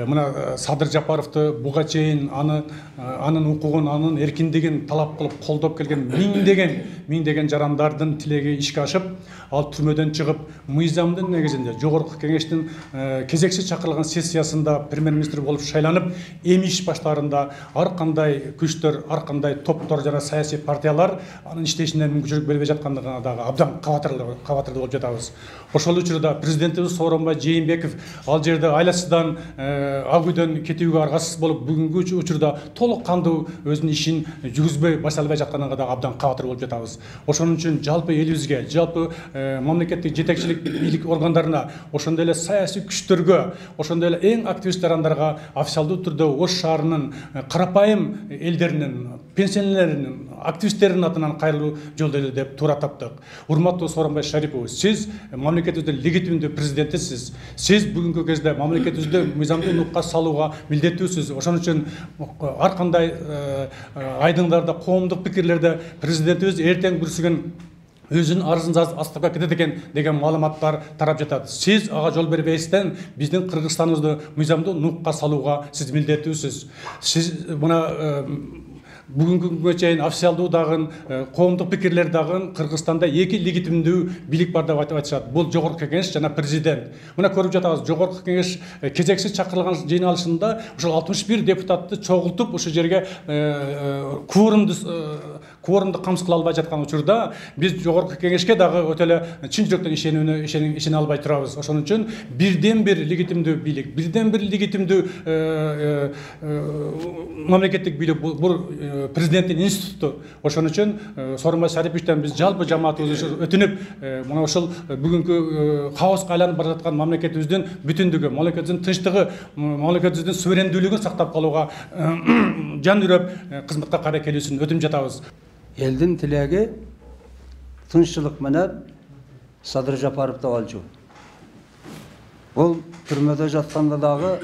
мына Садыр Жапаровду буга чейин анын укугун, анын эркиндигин талап кылып колдоп келген миңдеген жарандардын тилеги ишке ашып, ал түрмөдөн чыгып, мыйзамдын негизинде Жогорку Кеңештин кезекси чакырылган сессиясында премьер-министр болуп шайланып, эми иш баштаарында ар кандай күчтөр, ар кандай топтор жана саясий партиялар анын иштешине мүмкүнчүлүк бербей жаткандыгына дагы абдан кабатырдуу болуп жатабыз. Ошол учурда президентибиз Сооронбай Жээнбеков ал жерде айласыздан, ак үйдөн кетүүгө аргасыз болуп, бүгүнкү учурда толук кандуу өзүнүн ишин жүргүзбөй баштала албай жатканына дагы абдан кабатыр болуп жатабыз. Ошон үчүн жалпы элибизге, жалпы мамлекеттик жетекчилик бийлик органдарына, ошондой эле саясий күчтөргө, ошондой эле эң активист жарандарга официалдуу түрдө Ош шаарынын карапайым элдеринин, пенсионерлеринин, активисттердин атынан кайрылуу жолдойт деп туура таптык. Урматтуу Сооронбай Шарипович, сиз мамлекетибиздин легитимдүү президентисиз. Сиз бүгүнкү кезде мамлекетибизди мыйзамдуу нукка салууга милдеттүүсүз. Ошон үчүн ар кандай айдыңдарда, коомдук пикирлерде президентибиз эртең бүрсүгөн өзүнүн арызын астапка кетет экен деген маалыматтар тарап жатат. Сиз ага жол бербестен биздин Кыргызстаныбызды мыйзамдуу нукка салууга сиз милдеттүүсүз. Сиз мына бүгүнкү күнгө чейин официалдуу дагы, коомдук пикирлер дагы Кыргызстанда эки легитимдүү бийлик бар деп айтышат. Бул Жогорку Кеңеш жана президент. Мына көрүп жатабыз, Жогорку Кеңеш кезекси чакырылган жыйналышында ошол 61 депутатты чогултуп ошол жерге кворумду камсыз кыла албай жаткан учурда биз Жогорку Кеңешке дагы өтө эле чын жүрөктөн ишене албай турабыз. Ошон үчүн бирден бир легитимдүү бийлик, бирден бир легитимдүү мамлекеттик бийлик бул президенттин институту. Ошон үчүн Сооронбай Шариповичтен биз жалпы жамаатыбыз өтүнүп, мына ошол бүгүнкү хаоска айланып бара жаткан мамлекетибиздин бүтүндүгү, мамлекетибиздин тынчтыгы, мамлекетибиздин суверендүүлүгүн сактап калууга жан үрөп кызматка кайра келүүсүн өтүнүп жатабыз. Элдин тилеги тынччылык менен Садыр Жапаровду алчу. Бул түрмөдө жатканда дагы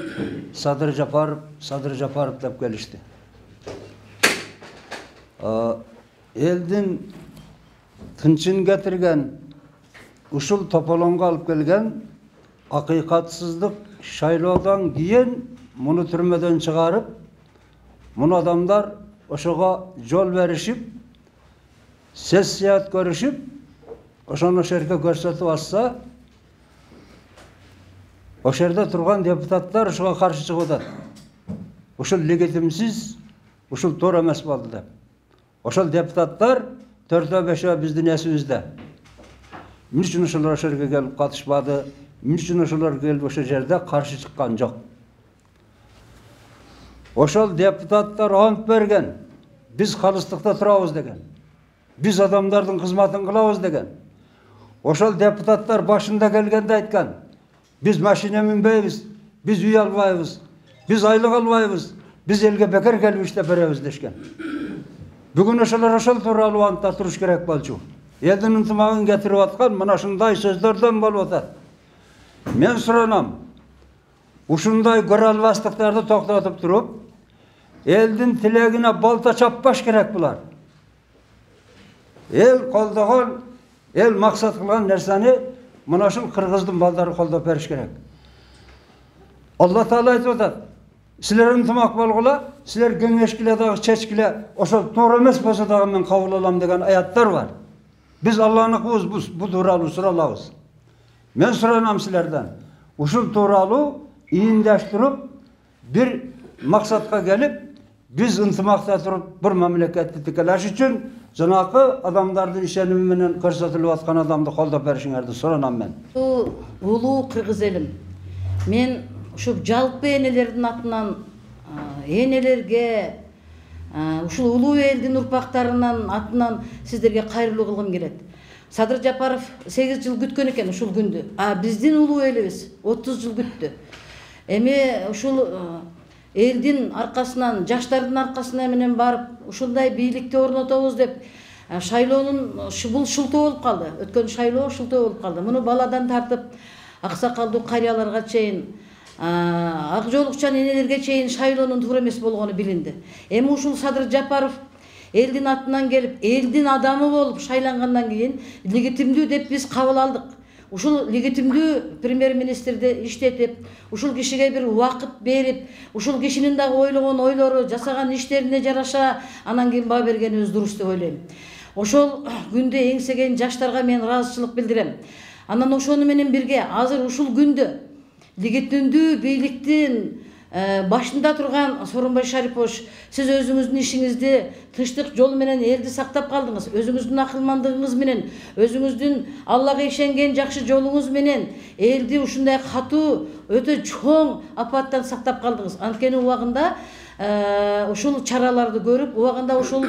Садыр Жапаров деп келишти. Элдин тынчын кетирген, ушул тополоңго алып келген акыйкатсыздык шайлоодон кийин муну түрмөдөн чыгарып, муну адамдар ошого жол беришип, сессия өткөрүшүп, ошону жерге көрсөтүп атса, ошол жерде турган депутаттар ошого каршы чыгып атат. Ушул легитимсиз, ушул туура эмес болду деп. Ошол депутаттар 4-5 биздин эсибизде. Эмне үчүн ошолор ошол жерге келип катышпады? Эмне үчүн ошолор келип ошол жерде каршы чыккан жок? Ошол депутаттар ант берген. Биз калыстыкта турабыз деген. Биз адамдардын кызматын кылабыз деген. Ошол депутаттар башында келгенде айткан: биз машина минбейбиз, биз үй албайбыз, биз айлык албайбыз, биз элге бекер келип иштеп беребиз дешкен. Бүгүн ошол тууралуу антта туруш керек болчу. Элдин ынтымагын кетирип аткан мына ушундай сөздөрдөн болуп атат. Мен суранам, ушундай көрө албастыктарды токтотуп туруп, элдин тилегине балта чаппаш керек булар. Эл колдогон, эл максат кылган нерсени мына ушул кыргыздын балдары колдоп бериш керек. Алла Таала айтып атат: силер ынтымак болгула, силер кеңешкиле дагы чечкиле, ошол туура эмес болсо дагы мен кабыл алам деген аяттар бар. Биз Алланыкыбыз, бу тууралуу суралабыз. Мен суранам силерден, ушул тууралуу ийиндаштырып, бир максатка келип, биз ынтымакта туруп бир мамлекетти тикелеш үчүн жанакы адамдардын ишеними менен көрсөтүлүп аткан адамды колдоп беришиңерди суранам мен. Улуу кыргыз элим, мен ушул жалпы энелердин атынан энелерге, ушул улуу элдин урпактарынын атынан сиздерге кайрылуу кылгым келет. Садыр Жапаров 8 жыл күткөн экен ушул күндү. Биздин улуу элибиз 30 жыл күттү. Эми ушул элдин аркасынан, жаштардын аркасына менен барып ушундай бийликти орнотобуз деп шайлоонун бул шултоо болуп калды. Өткөн шайлоо шултоо болуп калды. Муну баладан тартып аксакалдуу карыяларга чейин, ак жоолукчан энелерге чейин шайлоонун туура эмес болгону билинди. Эми ушул Садыр Жапаров элдин атынан келип, элдин адамы болуп шайлангандан кийин легитимдүү деп биз кабыл алдык. ушул легитимдүү премьер-министрди иштетип, ушул кишиге бир убакыт берип, ушул кишинин дагы ойлогон ойлору, жасаган иштерине жараша анан кийин баа бергенибиз дурус деп ойлойм. Ошол күндө эңсеген жаштарга мен ыраазычылык билдирем. Анан ошону менен бирге азыр ушул күндө легитимдүү бийликтин башында турган Сооронбай Шарипович, сиз өзүңүздүн ишиңизди тынчтык жолу менен элди сактап калдыңыз. Өзүңүздүн акылмандыгыңыз менен, өзүңүздүн Аллага ишенген жакшы жолуңуз менен элди ушундай катуу, өтө чоң апаттан сактап калдыңыз. Анткени убагында ушул чараларды көрүп, убагында ушул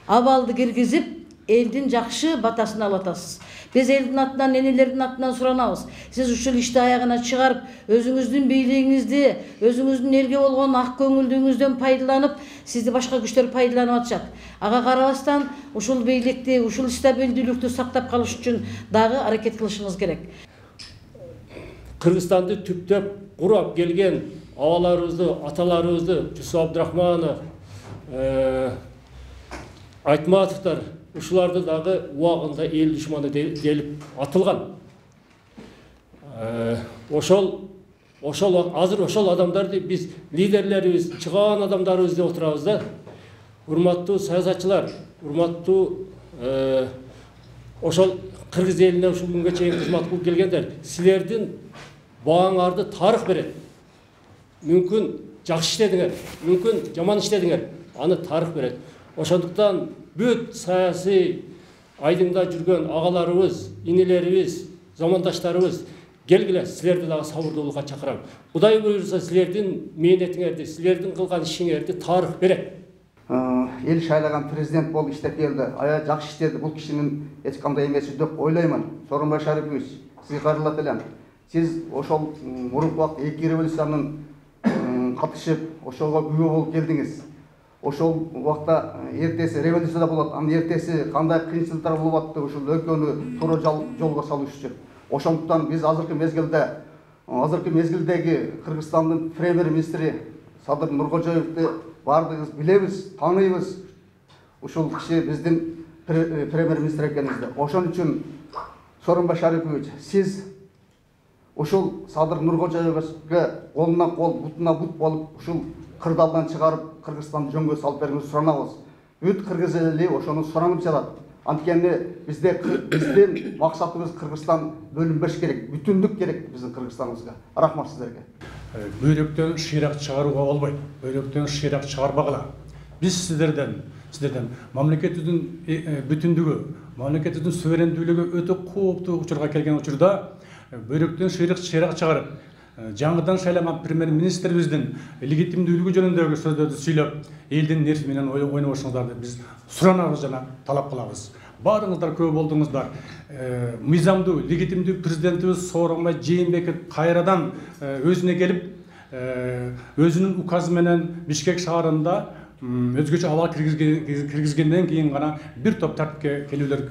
абалды киргизип, элдин жакшы батасын алып атасыз. Биз элдин атынан, энелердин атынан суранабыз. Сиз ушул ишти аягына чыгарып, өзүңүздүн бийлигиңизди, өзүңүздүн элге болгон ак көңүлдүгүңүздөн пайдаланып, сизди башка күчтөр пайдаланып атышат. Ага карабастан ушул бийликти, ушул стабилдүүлүктү сактап калыш үчүн дагы аракет кылышыңыз керек. Кыргызстанды түптөп курап келген абаларыбызды, аталарыбызды, Жусуп Абдрахманов, Айтматовдор ушуларды дагы убагында эл душманы делип атылган. Азыр ошол адамдарды биз лидерлерибиз, чыган адамдарыбыз деп отурабыз да. Урматтуу саясатчылар, урматтуу ошол кыргыз элине ушул күнгө чейин кызмат кылып келгендер, силердин бааңарды тарых берет. Мүмкүн жакшы иштедиңер, мүмкүн жаман иштедиңер, аны тарых берет. Ошондуктан бүт саясий айдыңда жүргөн агаларыбыз, инелерибиз, замандаштарыбыз, келгиле, силерди дагы сабырдуулукка чакырам. Кудай буйрса, силердин мээнетиңерди, силердин кылган ишиңерди тарых берет. Эл шайлаган президент болуп иштеп келди, аябай жакшы иштеди. Бул кишинин эч кандай эмеси деп ойлоймун. Сооронбай Шарипович, сизге кайрылат элем. Сиз ошол мурунку убакта 2 революциянын катышып, ошого күбө болуп келдиңиз. Ошол убакта эртеси революцияда болот, анын эртеси кандай кыйынчылыктар болуп атты, ушул өлкөнү туура жолго салыш үчүн. Ошондуктан биз азыркы мезгилдеги Кыргызстандын премьер-министри Садыр Нуркожоевди баардыгыбыз билебиз, тааныйбыз. Ушул киши биздин премьер-министр экенибизди. Ошон үчүн Сооронбай Шарипович, сиз ушул Садыр Нуркожоевге колуна кол, бутуна бут болуп, ушул кырдаалдан чыгарып, Кыргызстанды жөнгө салып берүүңүздү суранабыз. Бүт кыргыз эли ошону суранып жатат. Анткени биздин максатыбыз Кыргызстан бөлүнбөш керек, бүтүндүк керек биздин Кыргызстаныбызга. Рахмат сиздерге. Бөйрөктөн шыйрак чыгарууга болбойт. Бөйрөктөн шыйрак чыгарбагыла. Биз сиздерден мамлекетибиздин бүтүндүгү, мамлекетибиздин суверендүүлүгү өтө кооптуу учурга келген учурда бөйрөктөн шыйрак чыгарып, жаңыдан шайланган премьер-министрибиздин легитимдүүлүгү жөнүндөгү сөздөрдү сүйлөп, элдин нерси менен ойнобошуңуздарды биз суранабыз жана талап кылабыз. Баарыңыздар көп болдуңуздар. Мыйзамдуу, легитимдүү президентибиз Сооронбай Жээнбеков кайрадан өзүнө келип, өзүнүн указы менен Бишкек шаарында өзгөчө абал киргизгенден кийин гана бир топ тартипке келүүлөр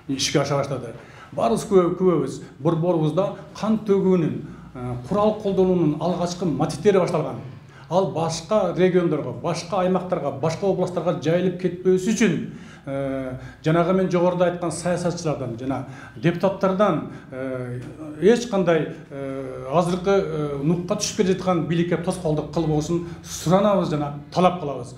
ишке аша баштады. Баарыбыз күбөбүз. Борборубузда кан төгүүнүн, курал колдонуунун алгачкы мотивдери башталган. Ал башка региондорго, башка аймактарга, башка областтарга жайылып кетпөөсү үчүн жанагы мен жогоруда айткан саясатчылардан жана депутаттардан эч кандай азыркы нукка түшүп келе жаткан бийликке тоскоолдук кылбоосун суранабыз жана талап кылабыз.